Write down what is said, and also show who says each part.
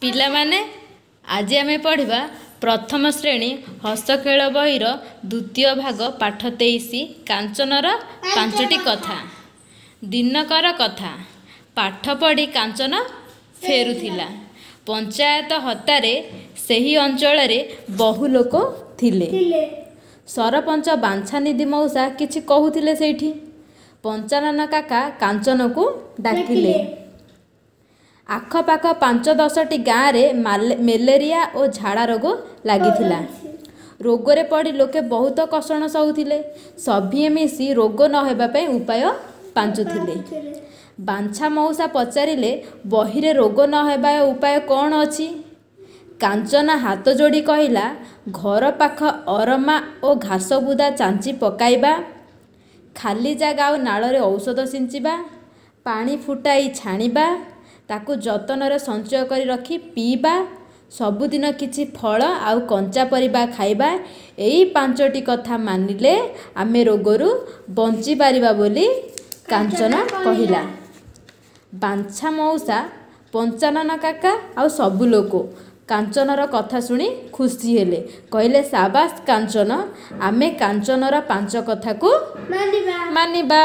Speaker 1: ପିଲାମାନେ, ଆଜି ଆମେ ପଢ଼ିବା ପ୍ରଥମ ଶ୍ରେଣୀ ହସଖେଳ ବହିର ଦ୍ୱିତୀୟ ଭାଗ, ପାଠ 23, କାଞ୍ଚନର ପାଞ୍ଚଟି କଥା। ଦିନକର କଥା, ପାଠ ପଢ଼ି କାଞ୍ଚନ ଫେରୁଥିଲା। ପଞ୍ଚାୟତ ହତାରେ ସେହି ଅଞ୍ଚଳରେ ବହୁ ଲୋକ ଥିଲେ। ସରପଞ୍ଚ ବାଞ୍ଛାନିଧି ମଉସା କିଛି କହୁଥିଲେ ସେଇଠି। ପଞ୍ଚାନନ କାକା କାଞ୍ଚନକୁ ଡାକିଲେ। ଆଖପାଖ 5 10ଟି ଗାଁରେ ମେଲେରିଆ ଓ ଝାଡ଼ା ରୋଗ ଲାଗିଥିଲା। ରୋଗରେ ପଡ଼ି ଲୋକେ ବହୁତ କଷଣ ସହୁଥିଲେ। ସଭିଏଁ ମିଶି ରୋଗ ନ ହେବା ପାଇଁ ଉପାୟ ପାଞ୍ଚୁଥିଲେ। ବାଞ୍ଛା ମଉସା ପଚାରିଲେ, ବହିରେ ରୋଗ ନ ହେବା ଉପାୟ କ'ଣ ଅଛି? କାଞ୍ଚନ ହାତ ଯୋଡ଼ି କହିଲା, ଘର ପାଖ ଅରମା ଓ ଘାସବୁଦା ଚାଞ୍ଚି ପକାଇବା, ଖାଲି ଜାଗା ଆଉ ନାଳରେ ଔଷଧ ସିଞ୍ଚିବା, ପାଣି ଫୁଟାଇ ଛାଣିବା, ତାକୁ ଯତ୍ନରେ ସଞ୍ଚୟ କରି ରଖି ପିଇବା, ସବୁଦିନ କିଛି ଫଳ ଆଉ କଞ୍ଚା ପରିବା ଖାଇବା। ଏଇ ପାଞ୍ଚଟି କଥା ମାନିଲେ ଆମେ ରୋଗରୁ ବଞ୍ଚିପାରିବା ବୋଲି କାଞ୍ଚନ କହିଲା। ବାଞ୍ଛା ମଉସା, ପଞ୍ଚାନନ କାକା ଆଉ ସବୁ ଲୋକ କାଞ୍ଚନର କଥା ଶୁଣି ଖୁସି ହେଲେ। କହିଲେ, ସାବାସ କାଞ୍ଚନ, ଆମେ କାଞ୍ଚନର ପାଞ୍ଚ କଥାକୁ ମାନିବା।